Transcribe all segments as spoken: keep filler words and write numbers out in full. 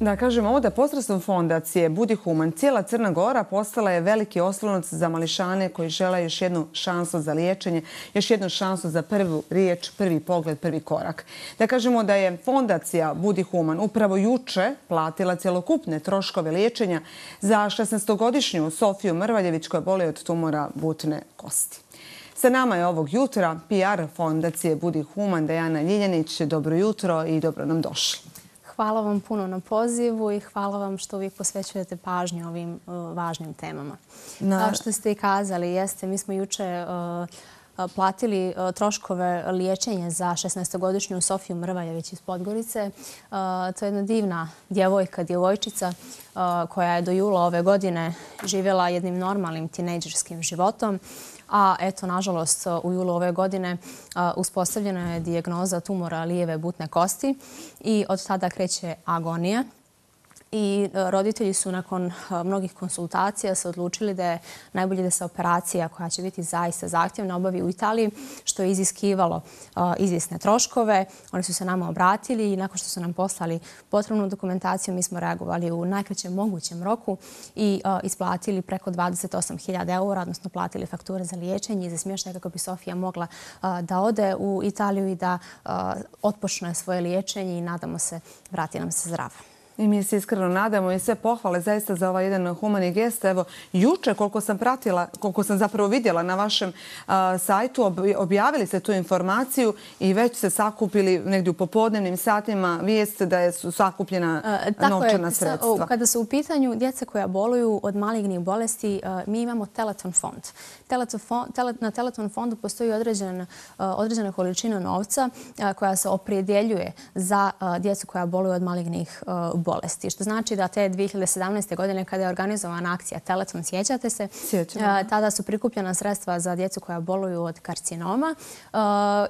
Da kažemo ovo da posredstvom fondacije Budi Human cijela Crna Gora postala je veliki oslonac za mališane koji žele još jednu šansu za liječenje, još jednu šansu za prvu riječ, prvi pogled, prvi korak. Da kažemo da je fondacija Budi Human upravo juče platila cjelokupne troškove liječenja za šesnaestogodišnju Sofiju Mrvaljević koja boli od tumora butne kosti. Sa nama je ovog jutra P R fondacije Budi Human Dejana Ljiljanić. Dobro jutro i dobro nam došli. Hvala vam puno na pozivu i hvala vam što uvijek posvećujete pažnju ovim uh, važnim temama. Na... Kao što ste i kazali, jeste, mi smo juče uh, platili uh, troškove liječenja za šesnaestogodišnju Sofiju Mrvaljević iz Podgorice. Uh, to je jedna divna djevojka, djevojčica uh, koja je do jula ove godine živjela jednim normalnim tinejdžerskim životom. A eto, nažalost, u julu ove godine uspostavljena je dijagnoza tumora lijeve butne kosti i od tada kreće agonija. I roditelji su nakon mnogih konsultacija se odlučili da je najbolje da se operacija koja će biti zaista zahtjevna obavi u Italiji, što je iziskivalo izvjesne troškove. Oni su se nama obratili i nakon što su nam poslali potrebnu dokumentaciju, mi smo reagovali u najkraćem mogućem roku i isplatili preko dvadeset osam hiljada eura, odnosno platili fakture za liječenje i za smještaj kako bi Sofija mogla da ode u Italiju i da otpočne svoje liječenje i nadamo se vrati nam se zdrava. I mi se iskreno nadamo i sve pohvale zaista za ovaj jedan humani gest. Evo, juče koliko sam pratila, koliko sam zapravo vidjela na vašem a, sajtu, ob, objavili ste tu informaciju i već se sakupili negdje u popodnevnim satima vijest da je su sakupljena a, novčana je, sredstva. Kada su u pitanju djeca koja boluju od malignih bolesti, a, mi imamo Teleton fond. Teleton fond tele, na Teleton fondu postoji određen, a, određena količina novca a, koja se opredjeljuje za a, djecu koja boluju od malignih a, bolesti. Što znači da te dvije hiljade sedamnaeste. godine kada je organizovana akcija Teleton, sjećate se, Sjećam. tada su prikupljena sredstva za djecu koja boluju od karcinoma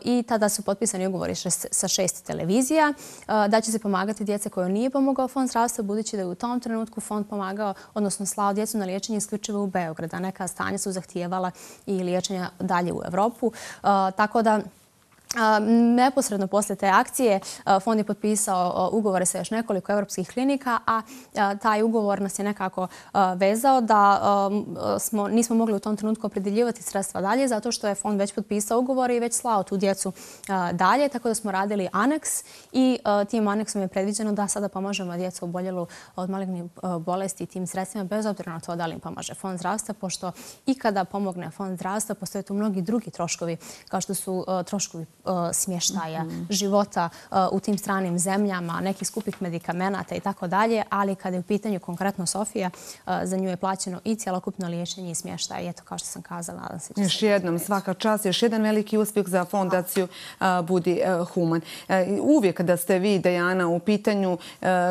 i tada su potpisani ugovori sa šest televizija da će se pomagati djece koje nije pomogao fond zdravstva, budući da je u tom trenutku fond pomagao, odnosno slao djecu na liječenje isključivo u Beograd, a neka stanja su zahtijevala i liječenja dalje u Evropu. Tako da neposredno poslije te akcije fond je potpisao ugovore sa još nekoliko evropskih klinika, a taj ugovor nas je nekako vezao da smo, nismo mogli u tom trenutku opredjeljivati sredstva dalje zato što je fond već potpisao ugovor i već slao tu djecu dalje, tako da smo radili aneks i tim aneksom je predviđeno da sada pomažemo djecu oboljelu od malignih bolesti tim sredstvima bez obzira na to da li im pomaže fond zdravstva, pošto i kada pomogne fond zdravstva postoje tu mnogi drugi troškovi kao što su troškovi smještaja, mm-hmm. života uh, u tim stranim zemljama, nekih skupih medikamenata i tako dalje, ali kada je u pitanju konkretno Sofija, uh, za nju je plaćeno i cjelokupno liječenje i smještaj. Eto, kao što sam kazala, nadam se. Još jednom, svaka čast, još jedan veliki uspjeh za fondaciju uh, Budi uh, Human. Uh, uvijek kada ste vi, Dejana, u pitanju, uh,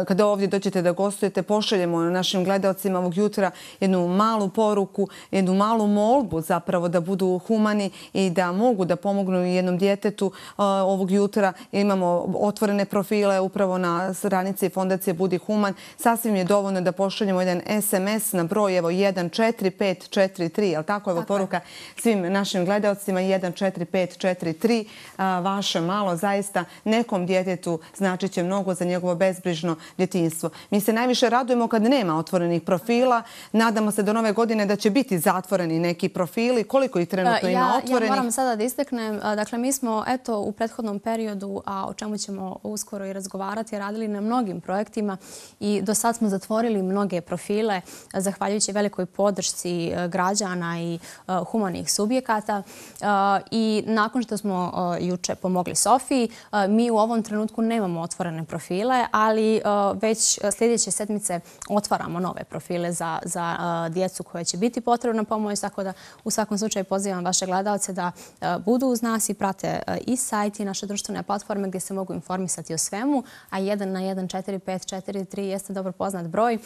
kada ovdje dođete da gostujete, pošaljemo našim gledalcima ovog jutra jednu malu poruku, jednu malu molbu zapravo da budu humani i da mogu da pomognu jednom djetetu. Ovog jutra imamo otvorene profile upravo na stranici fondacije Budi Human. Sasvim je dovoljno da pošaljemo jedan es em es na broj evo jedan četiri pet četiri tri, jel tako? Evo poruka svim našim gledalcima jedan četiri pet četiri tri. Vaše malo zaista nekom djetetu značit će mnogo za njegovo bezbrižno djetinjstvo. Mi se najviše radujemo kad nema otvorenih profila. Nadamo se do nove godine da će biti zatvoreni neki profili. Koliko ih trenutno ja, ima otvorenih? Ja moram sada da istaknem. Dakle, mi smo eto u prethodnom periodu, a o čemu ćemo uskoro i razgovarati, radili na mnogim projektima i do sad smo zatvorili mnoge profile zahvaljujući velikoj podršci građana i uh, humanih subjekata. Uh, I nakon što smo uh, juče pomogli Sofiji, uh, mi u ovom trenutku nemamo otvorene profile, ali uh, već sljedeće sedmice otvaramo nove profile za, za uh, djecu koje će biti potrebna pomoć, tako da u svakom slučaju pozivam vaše gledalce da uh, budu uz nas i prate uh, i sajt i naše društvene platforme gdje se mogu informisati o svemu, a jedan na jedan četiri pet četiri tri jeste dobro poznat broj.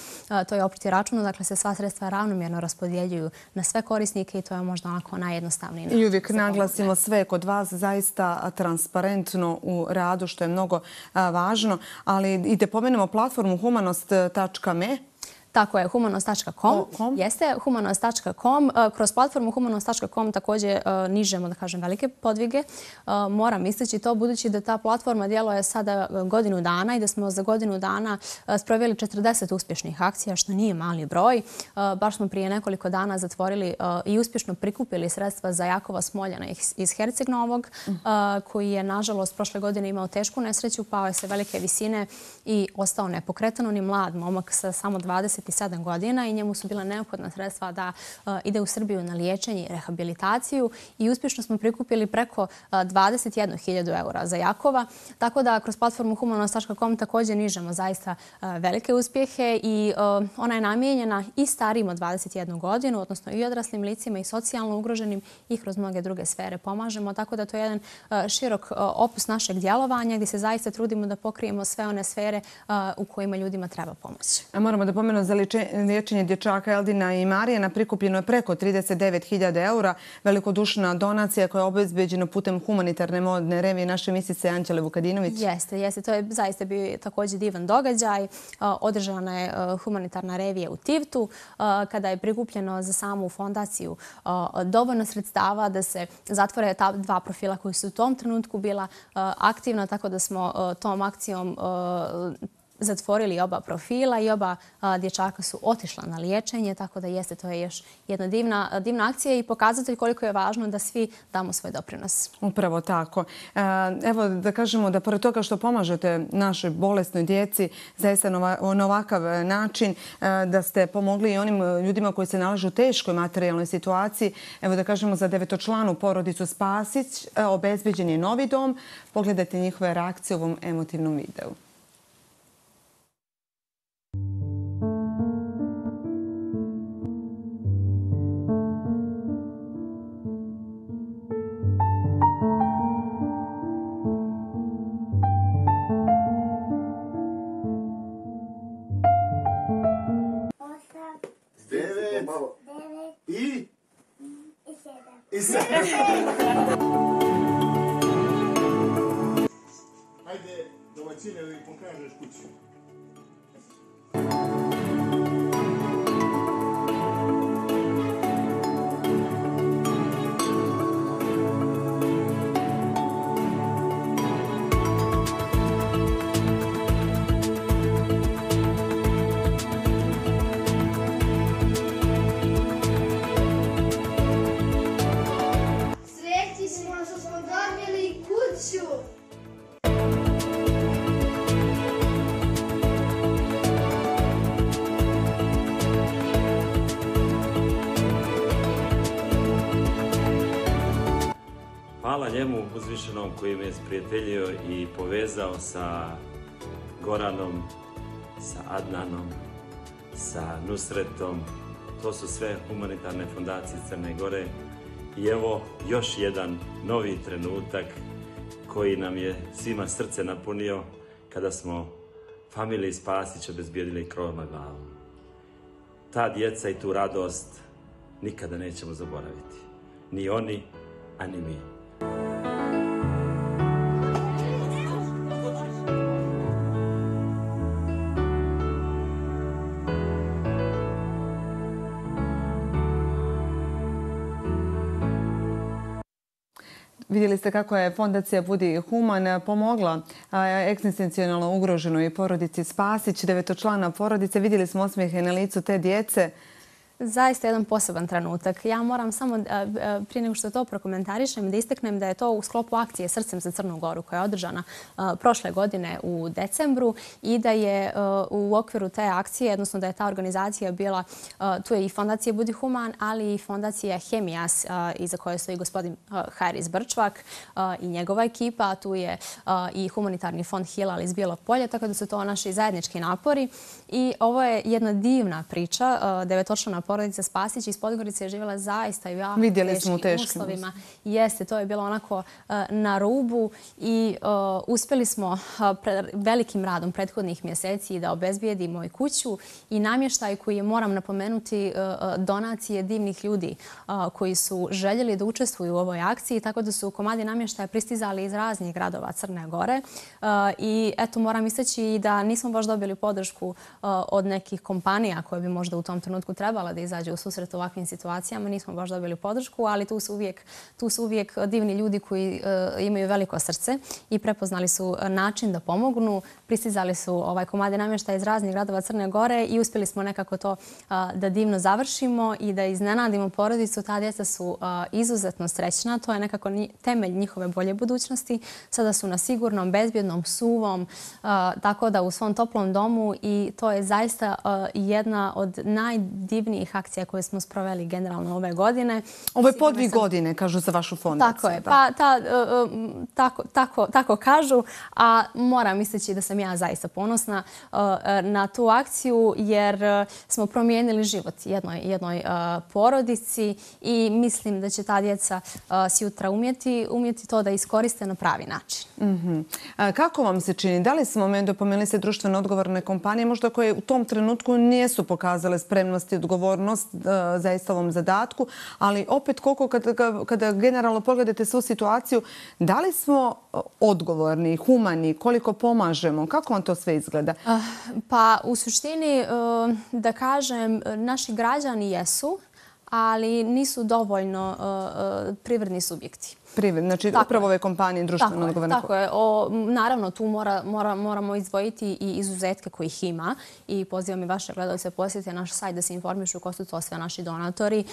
To je općiti račun, dakle se sva sredstva ravnomjerno raspodjeljuju na sve korisnike i to je možda onako najjednostavniji način. I uvijek naglasimo sve kod vas zaista transparentno u radu, što je mnogo važno, ali i da pomenemo platformu humanost tačka me. Tako je, humanost tačka com. Jeste, humanost tačka com. Kroz platformu humanost tačka com također nižemo, da kažem, velike podvige. Moram istaći to budući da ta platforma djeluje sada godinu dana i da smo za godinu dana sproveli četrdeset uspješnih akcija, što nije mali broj. Baš smo prije nekoliko dana zatvorili i uspješno prikupili sredstva za Jakova Smoljana iz Herceg Novog, koji je, nažalost, prošle godine imao tešku nesreću, pao je sa velike visine i ostao nepokretan. On je mlad momak sa samo dvadeset sedam godina i njemu su bila neophodna sredstva da ide u Srbiju na liječenje i rehabilitaciju i uspješno smo prikupili preko dvadeset jednu hiljadu eura za Jakova. Tako da kroz platformu humanost tačka com također nižemo zaista velike uspjehe i ona je namijenjena i starijim od dvadeset jednu godinu, odnosno i odraslim licima i socijalno ugroženim i kroz mnoge druge sfere pomažemo. Tako da to je jedan širok opus našeg djelovanja gdje se zaista trudimo da pokrijemo sve one sfere u kojima ljudima treba pomoć. Moramo da pomenu za liječenje dječaka Eldina i Marijana prikupljeno je preko trideset devet hiljada eura. Velikodušna donacija koja je obezbeđena putem humanitarne modne revije naše misice Anđele Vukadinović. Jeste, jeste. To je zaista bio također divan događaj. Održana je humanitarna revija u Tivtu kada je prikupljeno za samu fondaciju dovoljno sredstava da se zatvore ta dva profila koji su u tom trenutku bila aktivna, tako da smo tom akcijom zatvorili oba profila i oba dječaka su otišla na liječenje, tako da jeste, to je još jedna divna, divna akcija i pokazatelj koliko je važno da svi damo svoj doprinos. Upravo tako. Evo da kažemo da pored toga što pomažete našoj bolesnoj djeci zaista na ovakav način, da ste pomogli i onim ljudima koji se nalažu u teškoj materijalnoj situaciji. Evo da kažemo za devetočlanu porodicu Spasić obezbeđen je novi dom. Pogledajte njihove reakcije u ovom emotivnom videu. I? I sedam. Hajde, domaćine, da ih pokažeš kuću. Hvala njemu uzvišenom koji me je sprijateljio i povezao sa Goranom, sa Adnanom, sa Nusretom. To su sve humanitarne fondacije Crne Gore. I evo još jedan novi trenutak koji nam je svima srce napunio kada smo familiji Spasić obezbijedili krov nad glavom. Ta djeca i tu radost nikada nećemo zaboraviti. Ni oni, a ni mi. Vidjeli ste kako je fondacija Budi human pomogla egzistencijalno ugroženoj porodici Spasić, devetočlana porodice. Vidjeli smo osmijehe na licu te djece. Zaista jedan poseban trenutak. Ja moram samo, prije nego što to prokomentarišem, da istaknem da je to u sklopu akcije Srcem za Crnu Goru koja je održana prošle godine u decembru i da je u okviru te akcije, odnosno da je ta organizacija bila, tu je i fondacija Budi human, ali i fondacija Hemijas, iza koje stoji gospodin Haris Brčvak i njegova ekipa. Tu je i humanitarni fond Hilal iz Bijelog Polja, tako da su to naši zajednički napori. I ovo je jedna divna priča, devetočlana porodica Spasić iz Podgorice je živjela zaista i jako Vidjeli smo u teškim teškim uslovima. Jeste, to je bilo onako na rubu i uspjeli smo velikim radom prethodnih mjeseci da obezbijedimo i kuću i namještaj koji je, moram napomenuti, donacije divnih ljudi koji su željeli da učestvuju u ovoj akciji, tako da su komadi namještaja pristizali iz raznih gradova Crne Gore. I eto, moram istaći da nismo baš dobili podršku od nekih kompanija koje bi možda u tom trenutku trebala da izađe u susret ovakvim situacijama. Nismo baš dobili podršku, ali tu su uvijek, tu su uvijek divni ljudi koji imaju veliko srce i prepoznali su način da pomognu. Pristizali su ovaj komadi namještaja iz raznih gradova Crne Gore i uspjeli smo nekako to da divno završimo i da iznenadimo porodicu. Ta djeca su izuzetno srećna. To je nekako temelj njihove bolje budućnosti. Sada su na sigurnom, bezbjednom, suvom, tako da u svom toplom domu i to je zaista jedna od najdivnijih akcija koje smo sproveli generalno ove godine. Ovo je podvig godine, kažu za vašu fondaciju. Tako je. Pa tako kažu, a moram istaći da sam ja zaista ponosna na tu akciju jer smo promijenili život jednoj porodici i mislim da će ta djeca sjutra umjeti to da iskoriste na pravi način. Kako vam se čini? Da li smo dopomenuli se društveno odgovorne kompanije, možda koje u tom trenutku nisu pokazale spremnost i odgovornost zaista ovom zadatku, ali opet koliko kada generalno pogledate svu situaciju, da li smo odgovorni, humani, koliko pomažemo? Kako vam to sve izgleda? Pa u suštini, da kažem, naši građani jesu, ali nisu dovoljno privredni subjekti. Znači, upravo ove kompanije društveno odgovorne. Tako je. Naravno, tu moramo izdvojiti i izuzetke kojih ima i pozivam i vaše gledalce posjetite naš sajt da se informišu ko su to sve naši donatori.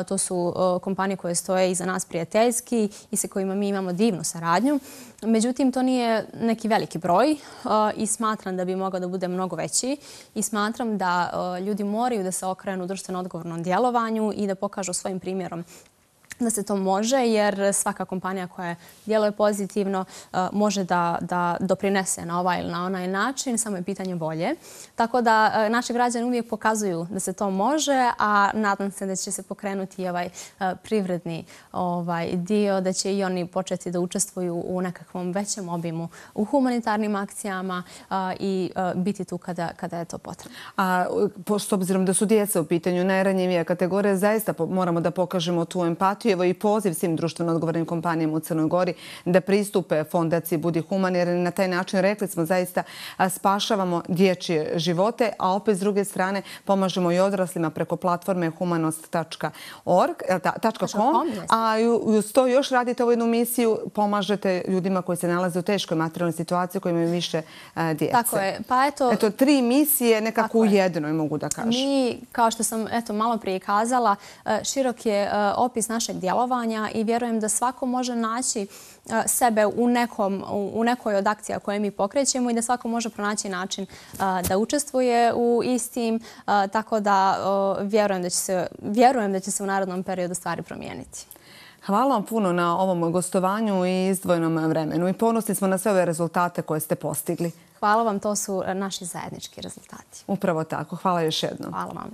To su kompanije koje stoje iza nas prijateljski i sa kojima mi imamo divnu saradnju. Međutim, to nije neki veliki broj i smatram da bi mogao da bude mnogo veći i smatram da ljudi moraju da se okrenu društveno odgovornom djelovanju i da pokažu svojim primjerom da se to može, jer svaka kompanija koja djeluje pozitivno može da doprinese na ovaj ili na onaj način, samo je pitanje volje. Tako da naši građani uvijek pokazuju da se to može, a nadam se da će se pokrenuti ovaj privredni dio, da će i oni početi da učestvuju u nekakvom većem obimu u humanitarnim akcijama i biti tu kada je to potrebno. A s obzirom da su djeca u pitanju najranjivija kategorija, zaista moramo da pokažemo tu empatiju. Evo i poziv svim društveno odgovornim kompanijama u Crnoj Gori da pristupe fondaciji Budi human, jer na taj način, rekli smo, zaista spašavamo dječje živote, a opet s druge strane pomažemo i odraslima preko platforme humanost tačka com, a uz to još radite ovu jednu misiju, pomažete ljudima koji se nalaze u teškoj materijalnoj situaciji, koji imaju više djece. Tako je. Pa eto... Eto, tri misije nekako u jednoj, mogu da kažem. Mi, kao što sam malo prije kazala, širok je opis našeg djelovanja i vjerujem da svako može naći sebe u nekoj od akcija koje mi pokrećemo i da svako može pronaći način da učestvuje u istim, tako da vjerujem da će se u narednom periodu stvari promijeniti. Hvala vam puno na ovom gostovanju i izdvojenom vremenu i ponosni smo na sve ove rezultate koje ste postigli. Hvala vam, to su naši zajednički rezultati. Upravo tako. Hvala još jednom. Hvala vam.